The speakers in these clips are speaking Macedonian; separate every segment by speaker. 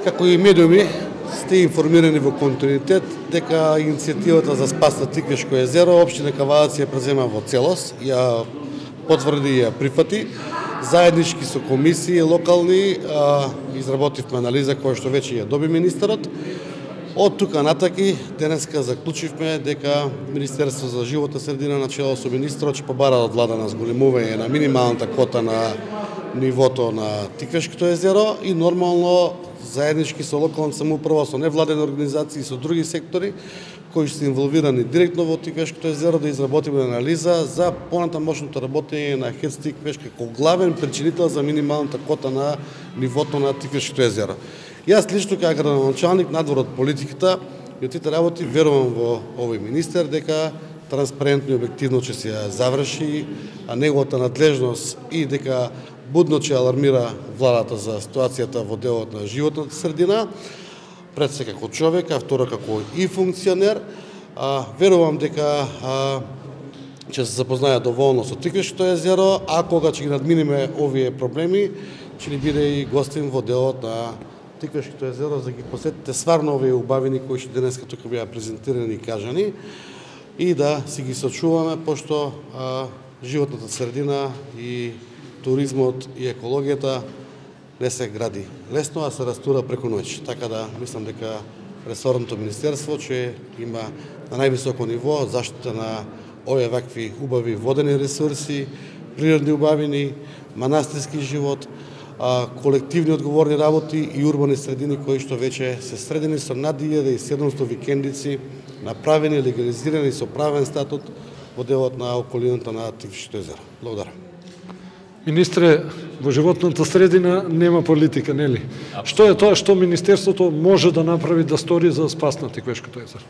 Speaker 1: Како и медиуми сте информирани во континуитет дека иницијативата за спас на Тиквешко езеро општина Кавадац ја презема во целост, ја потврди и ја прифати. Заеднички со комисии локални изработивме анализа која што веќе ја доби министерот. Од тука натаки денеска заклучивме дека Министерство за животна средина на чело со министрот ќе побара од влада на зголемување на минималната кота на нивото на Тиквешкото езеро и нормално заеднички со локална самоуправа, со невладени организации и со други сектори кои се инволвирани директно во Тиквешкото езеро да изработиме анализа за понатамошното работење на ХЕЦ Тиквеш како главен причинител за минималната кота на нивото на Тиквешкото езеро. Јас лично како градоначалник надвор од политиката и од тите работи верувам во овој министер дека транспарентно и објективно ќе се заврши неговата надлежност и дека будно ќе алармира владата за ситуацијата во делот на животната средина, пред се како човек, а второ како и функционер. Верувам дека ќе се запознаја доволно со Тиквешкото езеро, а кога ќе ги надминеме овие проблеми, ќе ни биде и гостин во делот на Тиквешкото езеро, за да ги посетите сварно овие убавини кои што денеска тука беа презентирани и кажани и да си ги сочуваме, пошто животната средина и туризмот и екологијата не се гради лесно, а се растура преку ноќ. Така да мислам дека ресорното министерство ќе има на највисоко ниво заштита на овие вакви убави водени ресурси, природни убавини, манастирски живот, колективни одговорни работи и урбани средини кои што веќе се средени со над 1700 викендици, направени, легализирани со правен статут во делот на околината на Тиквешкото езеро. Благодарам.
Speaker 2: Министре, во животната средина нема политика, нели? Што е тоа што Министерството може да направи, да стори за спас на Тиквешкото езеро?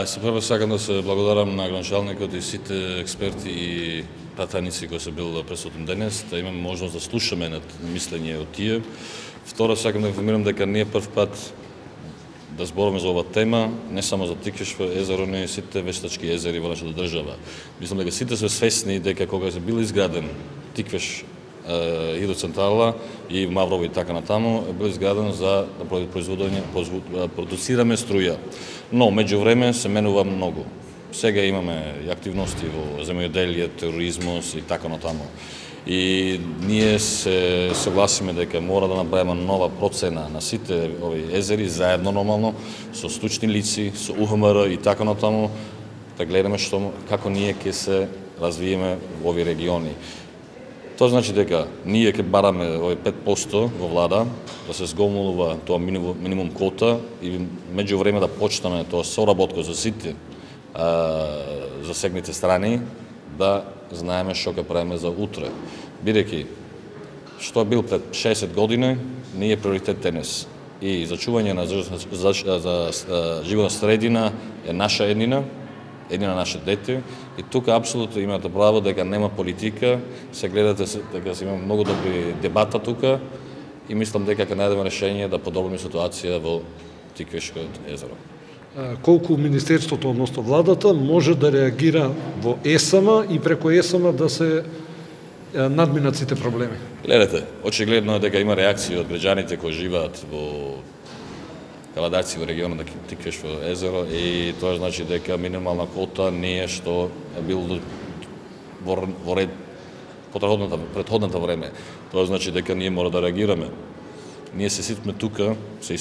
Speaker 3: Се прво сакам да се благодарам на градоначалникот и сите експерти и пратеници кои се бил присутни денес, да имаме можност да слушаме над мислење од тие. Второ, сакам да информирам дека не е прв пат да зборуваме за ова тема, не само за Тиквешко езеро, но и сите вештачки езери во нашата држава. Мислам дека сите сме свесни дека кога се бил изграден Тиквеш хидроцентрала и Маврово и така натаму, бил изграден за да продуцираме струја. Но меѓувреме се менува многу. Сега имаме и активности во земјоделие, туризмот и така натаму. И ние се согласиме дека мора да направиме нова процена на сите овие езери заедно нормално со стручни лици, со УХМР и така натаму, да гледаме како ние ќе се развиеме во овие региони. Тоа значи дека ние ќе бараме овие 5% во влада да се зголемува тоа минимум кота и меѓувреме да почнеме тоа соработка за сите засегнати страни, да знаеме што ќе правиме за утре. Бидејќи што бил пред 60 години, не е приоритет денес. И зачување на животна средина е наша еднина наше дете. И тука апсолутно имате право дека нема политика, се гледате дека се има многу добри дебата тука и мислам дека ќе најдеме решение да подобриме ситуација во Тиквешкото езеро.
Speaker 2: Колку Министерството, односно владата, може да реагира во ЕСАМ и преку ЕСАМ да се надминат сите проблеми?
Speaker 3: Гледате, очигледно е дека има реакции од граѓаните кои живеат во Кавадац во регионот на Тиквешко езеро и тоа значи дека минимална кота не е што е бил во ред претходната време. Тоа значи дека ние мора да реагираме. Ние се ситме тука, се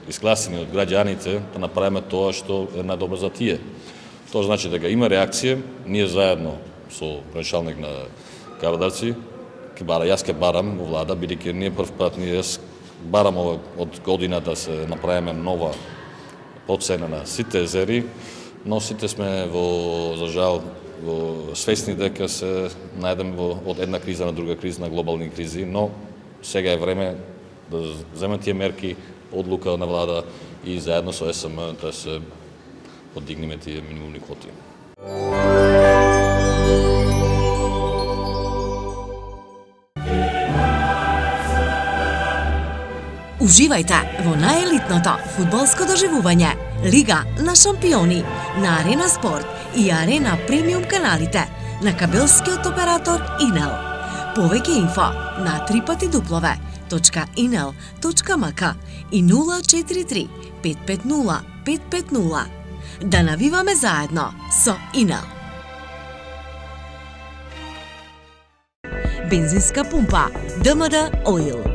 Speaker 3: искласени од граѓаните да направиме тоа што е најдобро за тие. Тоа значи дека има реакција, ние заедно со градоначалник на Кавадаци, јас ќе барам во влада, бидејќи ние прв пат барам од година да се направиме нова процена на сите езери, но сите сме за жал свесни дека се најдеме од една криза на друга криза, на глобални кризи, но сега е време да земат тие мерки, одлука на влада и заедно со ЕСМ да се подигнеме тие минимумни коти.
Speaker 4: Уживајте во најелитното фудбалско доживување Лига на шампиони на Арена Спорт и Арена Премиум каналите на кабелскиот оператор Инел. Повеќе инфо на 3x www.inel.mk и 043 550 550. Да навиваме заедно со Inel. Бензинска пумпа ДМД Oil.